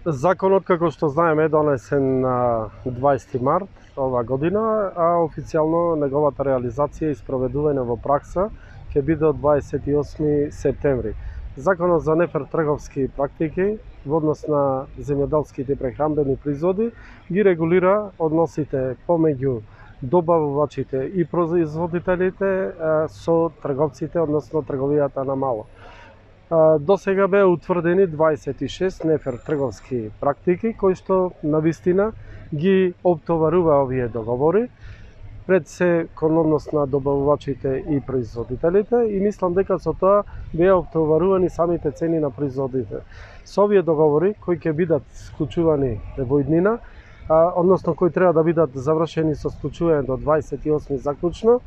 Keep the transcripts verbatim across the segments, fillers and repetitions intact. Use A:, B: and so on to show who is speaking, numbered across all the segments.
A: Законот, како што знаеме, е донесен на дваесети март ова година, а официјално неговата реализација и спроведување во пракса ќе биде од дваесет и осми септември. Законот за нефер трговски практики во однос на земјоделските прехранбени производи ги регулира односите помеѓу добавувачите и производителите со трговците, односно трговијата на мало. До сега беа утврдени дваесет и шест нефер трговски практики кои што навистина ги оптоварува овие договори пред се кон однос на добавувачите и производителите и мислам дека со тоа беа оптоварувани самите цени на производите. Со овие договори кои ќе бидат склучувани во иднина, а, односно кои треба да бидат завршени со склучување до дваесет и осми заклучно,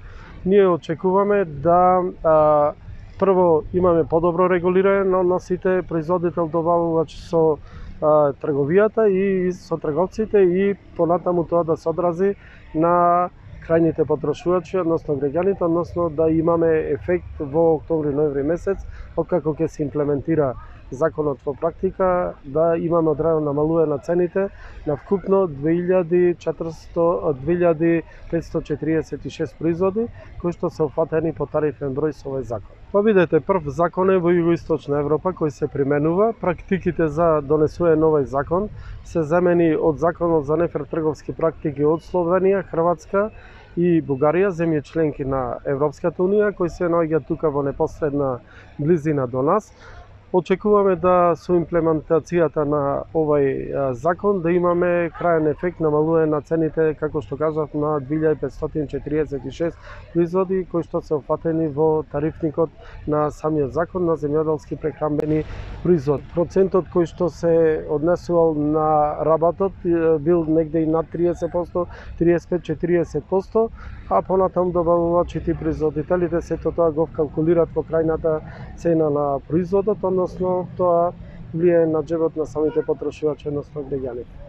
A: ние очекуваме да а, прво имаме подобро регулирање на односите производител-добавувач со а, трговијата и со трговците и понатаму тоа да се одрази на крајните потрошувачи, односно граѓаните, односно да имаме ефект во октомври-ноември месец, откако ќе се имплементира законот во практика, да имаме одредено намалување на цените на вкупно две илјади петстотини четириесет и шест производи кои што се опфатени по тарифен број со овој закон. Па видете, прв закон е во Југоисточна Европа кој се применува. Практиките за донесување на овој закон се замени од законот за нефер трговски практики од Словенија, Хрватска и Бугарија, земји членки на Европската унија, кои се наоѓаат тука во непосредна близина до нас. Очекуваме да со имплементацијата на овој закон да имаме крајен ефект намалување на цените, како што кажав, на две илјади петстотини четириесет и шест производи кои што се опфатени во тарифникот на самиот закон на земјоделски прехранбени производи. Процентот кој што се однесувал на работот бил негде и над триесет проценти, триесет и пет до четириесет проценти, а понатаму добавувачите и производителите сето тоа го вкалкулират во крајната цена на производот, односно тоа влијае на џебот на самите потрошувачи, односно граѓаните.